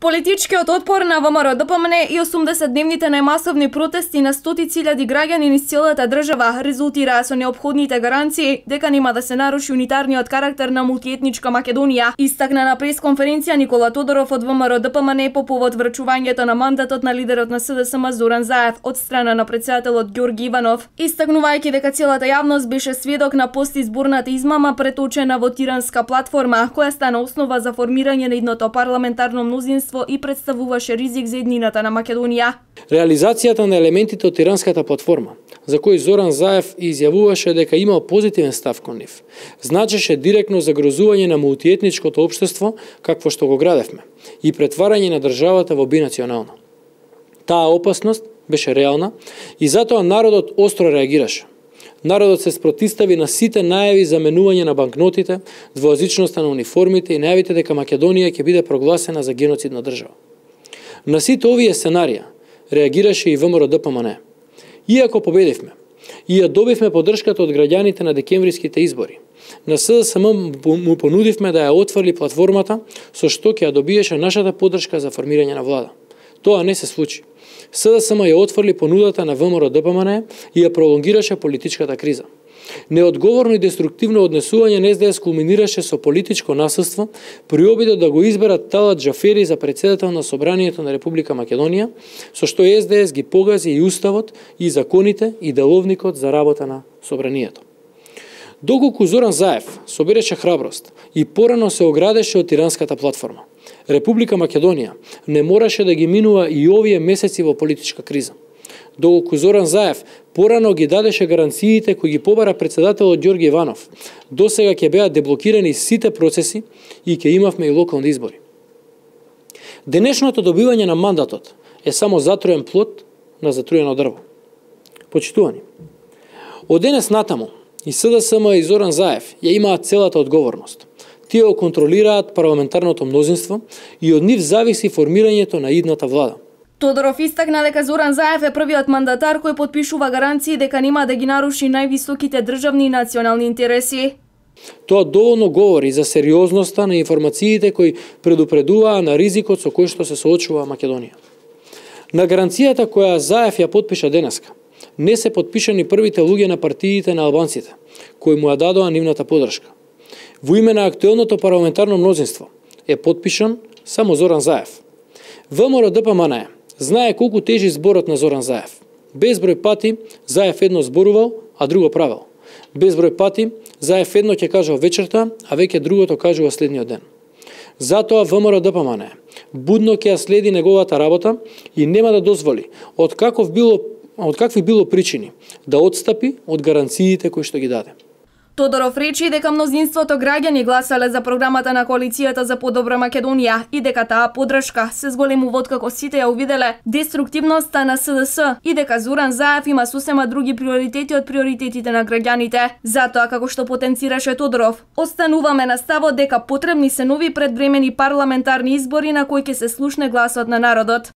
Политичкиот отпор на ВМРО-ДПМН и 80-дневните најмасовни протести на стотици илјади граѓани низ целата држава резултираа со неопходните гаранции дека нема да се наруши унитарниот карактер на мултиетничка Македонија, истакна на пресконференција Никола Тодоров од ВМРО-ДПМН по повод врачувањето на мандатот на лидерот на СДСМ Зоран Заев од страна на претседателот Ѓорги Иванов, истакнувајќи дека целата јавност беше сведок на постизборната измама преточена во тиранска платформа, која стана основа за формирање на идното парламентарно мнозинство и представуваше ризик за еднината на Македонија. Реализацијата на елементите од тиранската платформа, за кој Зоран Заев изјавуваше дека имал позитивен став кон нив, значеше директно загрозување на мултиетничкото општество какво што го градевме и претварање на државата во бинационална. Таа опасност беше реална и затоа народот остро реагираше. Народот се спротистави на сите најави за менување на банкнотите, двојазичноста на униформите и најавите дека Македонија ќе биде прогласена за геноцидна држава. На сите овие сценарија реагираше и ВМРО-ДПМН. Иако победивме, и ја добивме поддршката од граѓаните на декемвриските избори, на СДСМ му понудивме да ја отврли платформата со што ќе ја добиеше нашата поддршка за формирање на влада. Тоа не се случи. СДСМ ја отврли понудата на ВМРО-ДПМН и ја пролонгираше политичката криза. Неодговорно и деструктивно однесување на СДС кулминираше со политичко насилство при обидот да го изберат Талат Џафери за претседател на Собранието на Република Македонија, со што СДС ги погази и уставот, и законите, и деловникот за работа на Собранието. Доколку Зоран Заев собереше храброст и порано се оградеше од тиранската платформа, Република Македонија не мораше да ги минува и овие месеци во политичка криза. Доколку Зоран Заев порано ги дадеше гаранциите кои ги побара претседателот Ѓорги Иванов, досега ќе беа деблокирани сите процеси и ќе имавме и локални избори. Денешното добивање на мандатот е само затруен плод на затруено дрво. Почитувани, од денес натаму и СДСМ и Зоран Заев ја имаат целата одговорност. Тие го контролираат парламентарното мнозинство и од нив зависи формирањето на идната влада. Тодоров истакна дека Зоран Заев е првиот мандатар кој потпишува гаранции дека нема да ги наруши највисоките државни и национални интереси. Тоа доволно говори за сериозноста на информациите кои предупредуваа на ризикот со кој што се соочува Македонија. На гаранцијата која Заев ја потпиша денеска, не се потпишани првите луѓе на партиите на албанците, кои му ја дадоа нивната поддршка. Во име на актуелното парламентарно мнозинство е потпишан само Зоран Заев. ВМРО-ДПМН знае колку тежи зборот на Зоран Заев. Безброј пати Заев едно зборувал, а друго правил. Безброј пати Заев едно ќе кажал вечерта, а веќе другото кажува следниот ден. Затоа ВМРО-ДПМН будно ќе ја следи неговата работа и нема да дозволи од какви било причини да отстапи од гаранциите кои што ги даде. Тодоров речи дека мнозинството граѓани гласале за програмата на коалицијата за подобра Македонија и дека таа поддршка се зголемува откако сите ја увиделе деструктивноста на СДС и дека Зоран Заев има сосема други приоритети од приоритетите на граѓаните. Затоа, како што потенцираше Тодоров, остануваме на ставот дека потребни се нови предвремени парламентарни избори на кои ќе се слушне гласот на народот.